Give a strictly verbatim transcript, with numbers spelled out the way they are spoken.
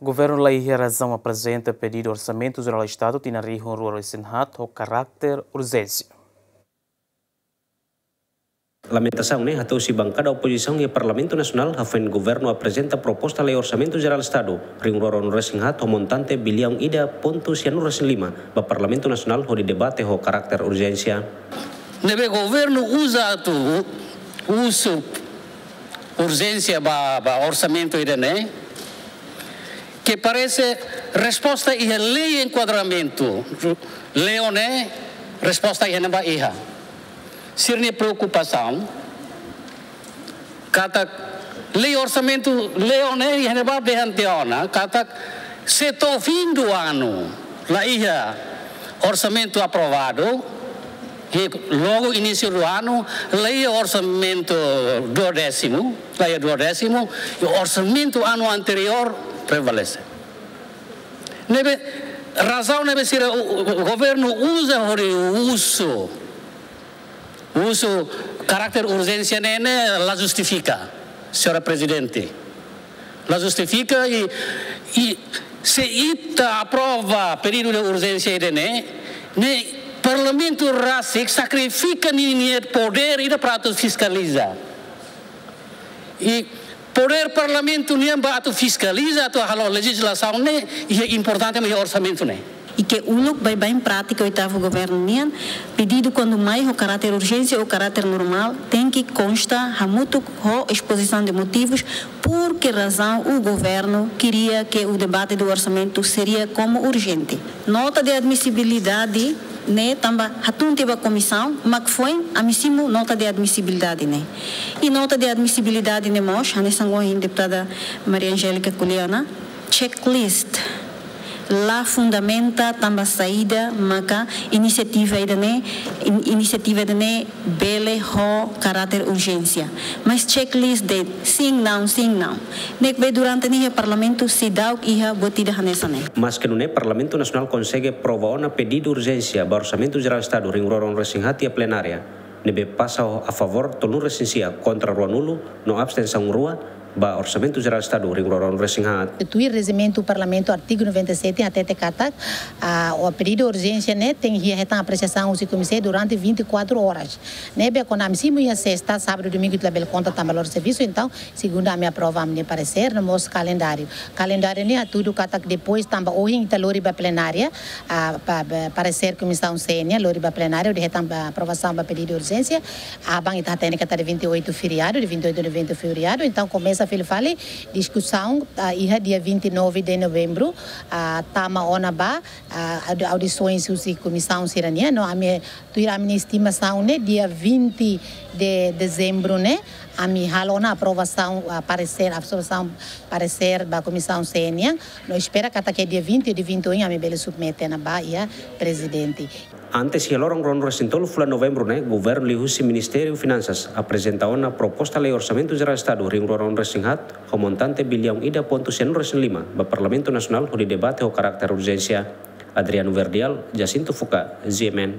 Governu la iha razaun aprezenta pedidu Orsamentu Jerál Estadu tinan rihun rua ruanulu-resin-haat ho karakter urjénsia. Lamentasaun ne'e hato'o husi bankada opozisaun iha Parlamentu Nasionál hafoin governu aprezenta proposta lei Orsamentu Jerál Estadu rihun rua ruanulu-resin-haat ho montante biliaun ida pontu sianulu-resin-lima ba Parlamentu Nasionál hodi debate ho karakter urjénsia. Ne'ebé governu uza atu husu urjénsia ba, ba orsamentu ida-ne'e, ke parese resposta iha lei enkuadramentu, lei ne'e resposta iha ne'ebá iha. Sira-nia preokupasaun katak lei orsamentu, lei ne'e iha ne'ebá dehan tiha ona katak se to'o fim do ano la iha orsamentu aprovadu, i logo início do ano la iha orsamentu duodécimo, la iha duodécimo, i orsamentu ano anteriór prevalese. Ne'ebé razaun ne'ebé sira u-, u-, governu uza hodi husu, husu karakter urjénsia ne'e, ne'e la justifika, señora Prezidente. La justifika i, i se ita aprova pedidu de urjénsia ida-ne'e, ne'e Parlamentu rasik sakrifika ninia podér ida para atu fiskaliza. I podér Parlamentu nian ba atu fiskaliza, atu halo lejizlasaun ne'e, i importante mak iha orsamentu ne'e. I ke uluk baibain prátika oitavu governu nian, pedidu kuandu mai ho karáter urjénsia ou karáter normál, tenke konsta hamutuk ho exposição de motivos, por que razão o governo queria que o debate do orçamento seria como urgente. Nota de admissibilidade ne'e tanba hatún tiha ba komisaun, mak foin ami simu nota de admissibilidade ne'e. I nota de admissibilidade ne'e mós, hanesan ohin deputada Maria Angélica ko'alia ona, checklist la fundamenta tanba saida maka inisiativa ida-ne'e, in-, inisiativa ida-ne'e bele ho karáter urjénsia. Mas checklist de'it sim, não, sim, não. Ne'ebé durante ne'e iha Parlamentu seidauk iha buat ida hanesan ne'e. Maske nune'e Parlamentu Nasionál konsege aprova ona pedidu urjénsia ba Orsamentu Jerál Estadu rihun rua ruanulu-resin-haat iha plenária, ne'ebé pasa ho a favór tolunulu-resin-sia, kontra ruanulu, no abstensaun rua ba Orsamentu Jerál Estadu rihun rua ruanulu-resin-haat. Tuir rejimentu Parlamentu, artigu noventa e sete, hatete katak, ah, o pedidu urjénsia ne'e tenke iha hetan apresiasaun husi komiseia durante vinte e quatro horas. Ne'ebé kuandu ami simu iha sesta, sábadu, domingu ita labele konta tanba loron servisu, entaun segunda ami aprova ami-nia paresér, no mós kalendáriu. Kalendáriu ne'e hatudu katak depois tanba ohin ita lori ba plenária, ah, pa, pa, paresér Komisaun C nian, lori ba plenária, hodi hetan ba aprovasaun ba pedidu urjénsia. Aban ita hatene katak dia vinte e oito feriadu, dia vinte e oito de novembro feriadu, entaun komesa fila fali diskusaun, ah, iha dia vinte e nove de novembro, ah, tama ona ba, ah, audi-, audisoens husi komisaun sira-nian, no ami, tuir ami-nia estimasaun ne'e dia vinte de dezembro ne'e, ami halo ona aprovasaun, ah, paresér, aprovasaun paresér ba Komisaun C nian, no espera katak dia vinte ou dia vinte e um ami bele submete ona ba iha Prezidente. Antes, iha loron ruanulu-resin-tolu fulan Novembru ne'e, governu liuhusi Ministériu Finansas aprezenta ona proposta lei Orsamentu Jerál Estadu rihun rua ruanulu-resin-haat ho montante biliaun ida pontu sianulu-resin-lima ba Parlamentu Nasionál hodi debate ho karáter urjénsia. Adriano Verdial, Jacinto Fuca, G M N.